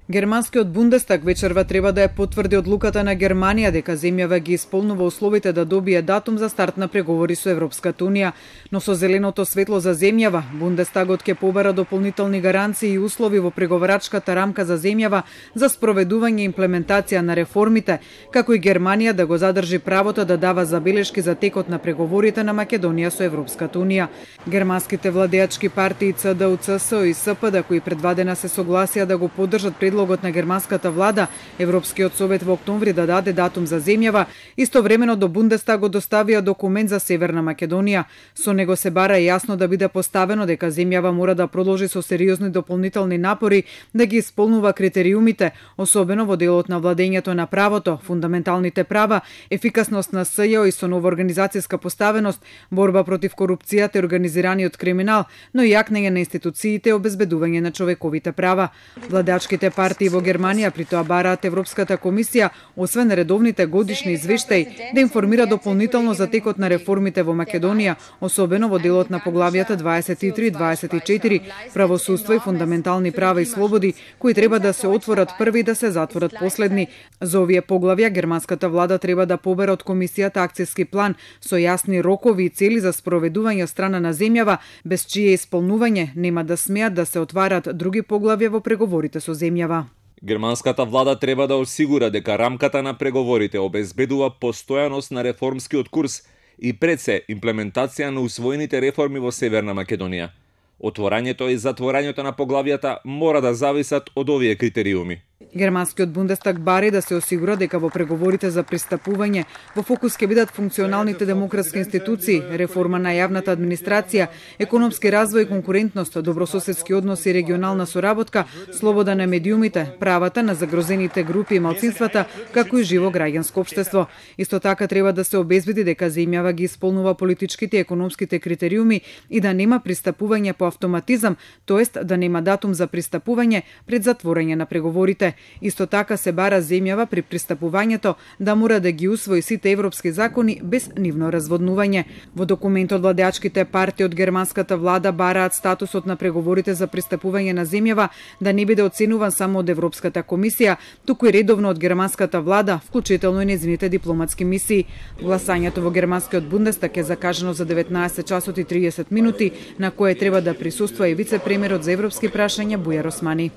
Германскиот Бундестаг вечерва треба да ја потврди одлуката на Германија дека земјава ги исполнува условите да добие датум за старт на преговори со Европската унија, но со зеленото светло за земјава, Бундестагот ќе побара дополнителни гаранции и услови во преговарачката рамка за земјава за спроведување и имплементација на реформите, како и Германија да го задржи правото да дава забелешки за текот на преговорите на Македонија со Европската унија. Германските владеачки партии ЦДУ, ЦСО и СПД, кои предвадена се согласија да го поддржат предлогот на германската влада, Европскиот совет во октомври да даде датум за земјава, истовремено до Бундестагот доставија документ за Северна Македонија. Со него се бара јасно да биде поставено дека земјава мора да продолжи со сериозни дополнителни напори да ги исполнува критериумите, особено во делот на владењето на правото, фундаменталните права, ефикасност на СЈО и со нова организацијска поставеност, борба против корупцијата и организираниот криминал, но и јакнење на институциите и обезбедување на човековите права. Владеачките партии во Германија при тоа бараат Европската комисија, освен редовните годишни извештаи, да информира дополнително за текот на реформите во Македонија, особено во делот на поглавјата 23 и 24, правосудство и фундаментални права и слободи, кои треба да се отворат први и да се затворат последни. За овие поглавја германската влада треба да побере од комисијата акцијски план со јасни рокови и цели за спроведување од страна на земјава, без чие исполнување нема да смеат да се отварат други поглавја во преговорите со земјава. Германската влада треба да осигура дека рамката на преговорите обезбедува постојаност на реформскиот курс и пред се имплементација на усвоените реформи во Северна Македонија. Отворањето и затворањето на поглавјата мора да зависат од овие критериуми. Германскиот Бундестаг бари да се осигура дека во преговорите за пристапување во фокус ќе бидат функционалните демократски институции, реформа на јавната администрација, економски развој и конкурентност, добрососедски односи и регионална соработка, слобода на медиумите, правата на загрозените групи и малцинствата, како и живо граѓанско општество. Исто така треба да се обезбеди дека земјава ги исполнува политичките и економските критериуми и да нема пристапување по автоматизам, тоест да нема датум за пристапување пред затворање на преговорите. Исто така се бара земјава при пристапувањето да мора да ги усвои сите европски закони без нивно разводнување. Во документот владеачките партии од германската влада бараат статусот на преговорите за пристапување на земјава да не биде оценуван само од Европската комисија, туку и редовно од германската влада, вклучително и нејзините дипломатски мисии. Гласањето во германскиот Бундестаг е закажано за 19 часот и 30 минути, на кое треба да присуствува и вице-премиерот за европски прашања Бујар Османи.